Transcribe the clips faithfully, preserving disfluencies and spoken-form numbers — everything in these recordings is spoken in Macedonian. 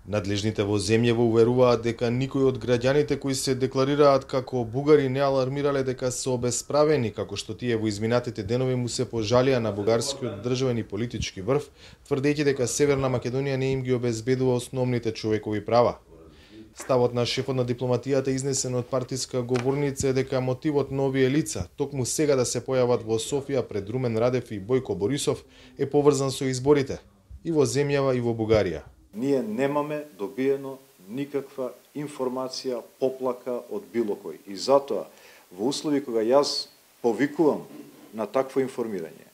Надлежните во земјава уверуваат дека никој од граѓаните кои се декларираат како бугари не алармирале дека се обесправени, како што тие во изминатите денови му се пожалија на бугарскиот државен и политички врв, тврдејќи дека Северна Македонија не им ги обезбедува основните човекови права. Ставот на шефот на дипломатијата изнесен од партиска говорница е дека мотивот на овие лица, токму сега да се појават во Софија пред Румен Радев и Бојко Борисов, е поврзан со изборите и во земјава и во Бугарија. Ние немаме добиено никаква информација, поплака од било кој. И затоа, во услови кога јас повикувам на такво информирање,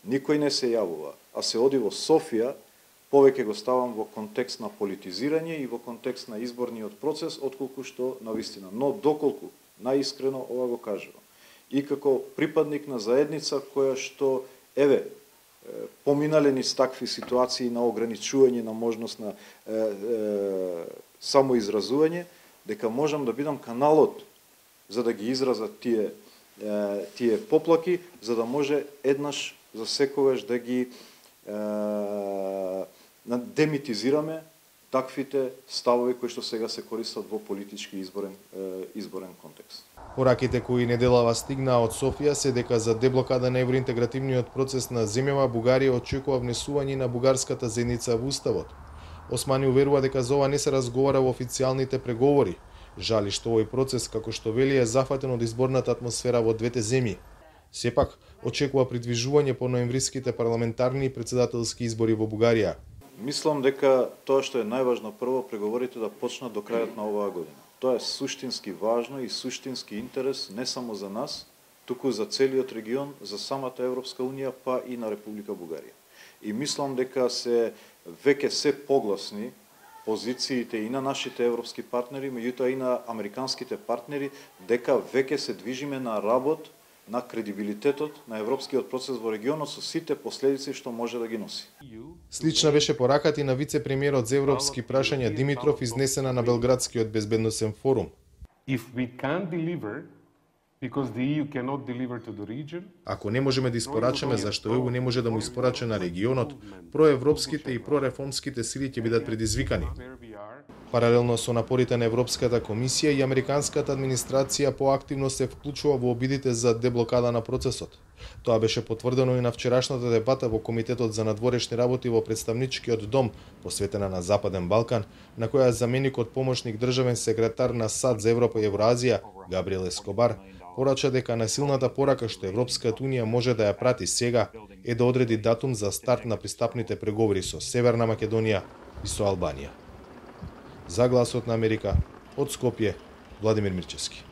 никој не се јавува, а се оди во Софија, повеќе го ставам во контекст на политизирање и во контекст на изборниот процес, отколку што на вистина. Но доколку, наискрено ова го кажувам, и како припадник на заедница која што, еве, поминале низ такви ситуации на ограничување на можност на е, е, самоизразување, дека можам да бидам каналот за да ги изразат тие, е, тие поплаки, за да може еднаш за секогаш да ги е, демитизираме таквите ставови кои што сега се користат во политички изборен, е, изборен контекст. Пораките кои неделава стигнаа од Софија се дека за деблокада на евроинтегративниот процес на земјава Бугарија очекува внесување на бугарската заедница во уставот. Османи уверува дека за ова не се разговара во официјалните преговори. Жали што овој процес, како што вели, е зафатен од изборната атмосфера во двете земји. Сепак, очекува придвижување по ноемвриските парламентарни и претседателски избори во Бугарија. Мислам дека тоа што е најважно прво, преговорите да почнат до крајот на оваа година. Тоа е суштински важно и суштински интерес не само за нас, туку за целиот регион, за самата Европска унија, па и на Република Бугарија. И мислам дека се веќе се погласни позициите и на нашите европски партнери, меѓутоа и на американските партнери, дека веќе се движиме на работ на кредибилитетот на европскиот процес во регионот со сите последици што може да ги носи. Слична беше пораката и на вице-премиерот за европски прашања Димитров, изнесена на Белградскиот безбедносен форум. Ако не можеме да испорачаме зашто е у не може да му испорача на регионот, проевропските и прореформските сили ќе бидат предизвикани. Паралелно со напорите на Европската комисија и американската администрација поактивно се вклучува во обидите за деблокада на процесот. Тоа беше потврдено и на вчерашната дебата во Комитетот за надворешни работи во Представничкиот дом, посветена на Западен Балкан, на која заменикот помошник државен секретар на САД за Европа и Евроазија, Габриел Ескобар, порача дека најсилната порака што Европската унија може да ја прати сега е да одреди датум за старт на пристапните преговори со Северна Македонија и со Албанија. За Гласот на Америка, од Скопје, Владимир Мирчевски.